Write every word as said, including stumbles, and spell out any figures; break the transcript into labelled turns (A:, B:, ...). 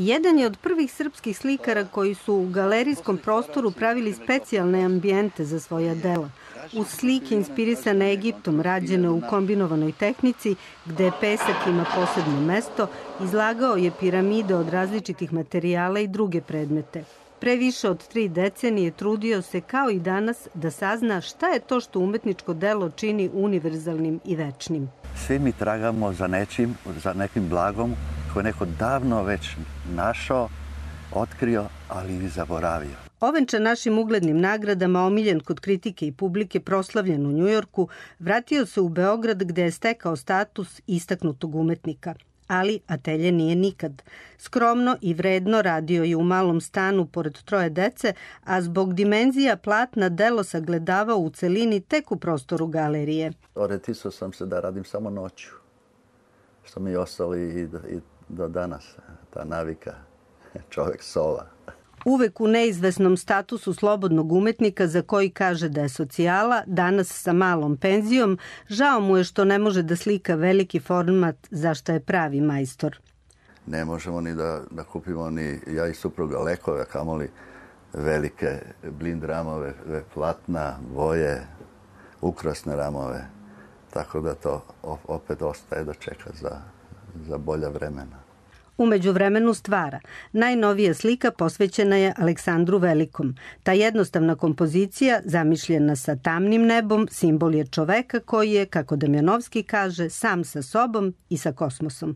A: Jedan je od prvih srpskih slikara koji su u galerijskom prostoru pravili specijalne ambijente za svoja dela. Uz slike inspirisane Egiptom, rađene u kombinovanoj tehnici, gde pesak ima posebno mesto, izlagao je piramide od različitih materijala i druge predmete. Pre više od tri decenije trudio se, kao i danas, da sazna šta je to što umetničko delo čini univerzalnim i večnim.
B: Svi mi tragamo za nečim, za nekim blagom koje je neko davno već našao, otkrio, ali i zaboravio.
A: Ovenčan našim uglednim nagradama, omiljen kod kritike i publike, proslavljen u Njujorku, vratio se u Beograd gde je stekao status istaknutog umetnika. Ali atelje nije nikad. Skromno i vredno radio je u malom stanu pored troje dece, a zbog dimenzija platna delo sagledavao u celini tek u prostoru galerije.
B: Orijentisao sam se da radim samo noću, što mi je ostalo i do danas, ta navika, čovek sova.
A: Uvek u neizvesnom statusu slobodnog umetnika za koji kaže da je socijala, danas sa malom penzijom, žao mu je što ne može da slika veliki format za što je pravi majstor.
B: Ne možemo ni da, da kupimo ni ja i supruga lekove, kamoli velike blind ramove, platna, boje, ukrasne ramove. Tako da to opet ostaje da čeka za, za bolja vremena.
A: U međuvremenu stvara. Najnovija slika posvećena je Aleksandru Velikom. Ta jednostavna kompozicija, zamišljena sa tamnim nebom, simbol je čoveka koji je, kako Damjanovski kaže, sam sa sobom i sa kosmosom.